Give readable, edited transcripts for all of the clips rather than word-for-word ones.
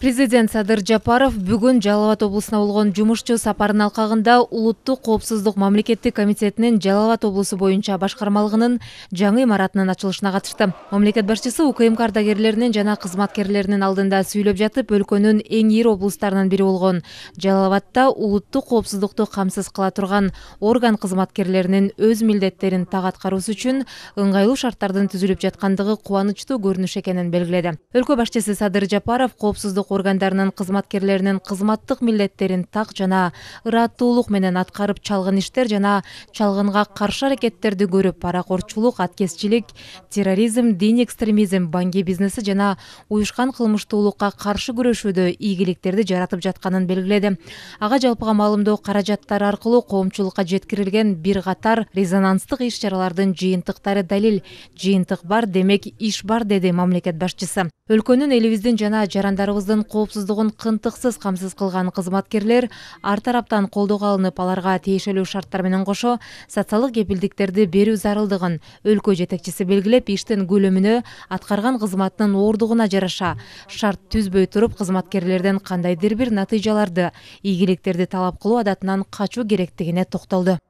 Президент Садыр Жапаров бүгүн Жалал Абад облусуна болгон жумушчу сапарынын алкагында Улуттук коопсуздук мамлекеттик комитетинин Жалал Абад облусу боюнча башкармалыгынын жаңы имаратынын ачылышына катышты. Мамлекет башчысы УКМК ардагерлеринин жана кызматкерлеринин алдында сүйлөп жатып, өлкөнүн эң ири облустарынын бири болгон Жалал Абадта улуттук коопсуздукту камсыз кыла турган орган кызматкерлеринин өз милдеттерин так аткаруусу үчүн ыңгайлуу шарттардын түзүлүп жаткандыгы кубанычтуу көрүнүш экенин белгиледи. Өлкө башчысы Садыр Жапаров коопсуздук органдарынын кызматкерлеринин кызматтык милдеттерин так жана ыраттуулук менен аткарып чалгын иштер жана чалгынга каршы аракеттерди көрүп, паракорчулук, аткезчилик, терроризм, дин экстремизм, банги бизнеси жана уюшкан кылмыштуулукка каршы күрөшүүдө ийгиликтерди жаратып жатканын белгиледи. Ага жалпыга маалымдоо каражаттары аркылуу коомчулукка жеткирилген бир катар резонанстык иш-чаралардын жыйынтыктары далил. Жыйынтык бар, демек иш бар, деди мамлекет башчысы. Өлкөнүн, элибиздин жана жарандарыбыздын коопсуздугун кынтыксыз камсыз кылган кызматкерлер ар тараптан колдоого алынып, аларга тиешелүү шарттар менен кошо социалдык кепилдиктерди берүү зарылдыгын өлкө жетекчиси белгилеп, иштин көлөмүнө, аткарган кызматынын оордугуна жараша шарт түзбөй туруп, кызматкерлерден кандайдыр бир натыйжаларды, ийгиликтерди талап кылуу адатынан качуу керектигине токтолду.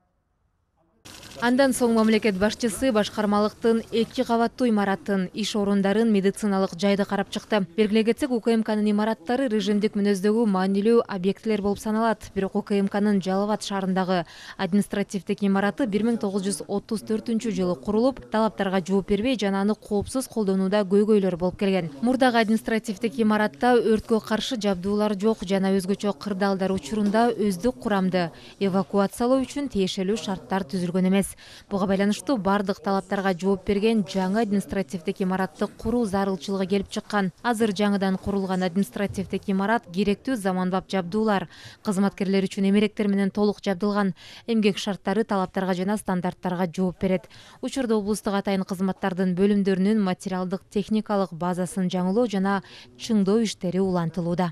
Андан соң мамлекет башчысы башкармалыктын 2 кабаттуу имаратын, иш орундарын, медициналык жайды карап чыкты. Белгилей кетсек, УКМКнын имараттары режимдик мүнөздөгү маанилүү объектилер болуп саналат. Бирок УКМКнын Жалал Абад шаарындагы административдик имараты 1934-жылы курулуп, талаптарга жооп бербей жана аны коопсуз колдонууда көйгөйлөр болуп келген. Мурдагы административдик имаратта өрткө каршы жабдуулар жок жана өзгөчө кырдаалдар учурунда өздүк курамды эвакуациялоо үчүн тиешелүү шарттар түзүлгөн эмес. Буга байланыштуу бардык талаптарга жооп берген жаңы административдик имаратты куруу зарылчылыгы келип чыккан. Азыр жаңыдан курулган административдик имарат керектүү заманбап жабдуулар, кызматкерлер үчүн эмеректер менен толук жабдылган, эмгек шарттары, талаптарга жана стандарттарга жооп берет. Учурда облустук атайын кызматтардын бөлүмдөрүнүн материалдык техникалык базасын жаңылоо жана чыңдоо иштери улантылууда.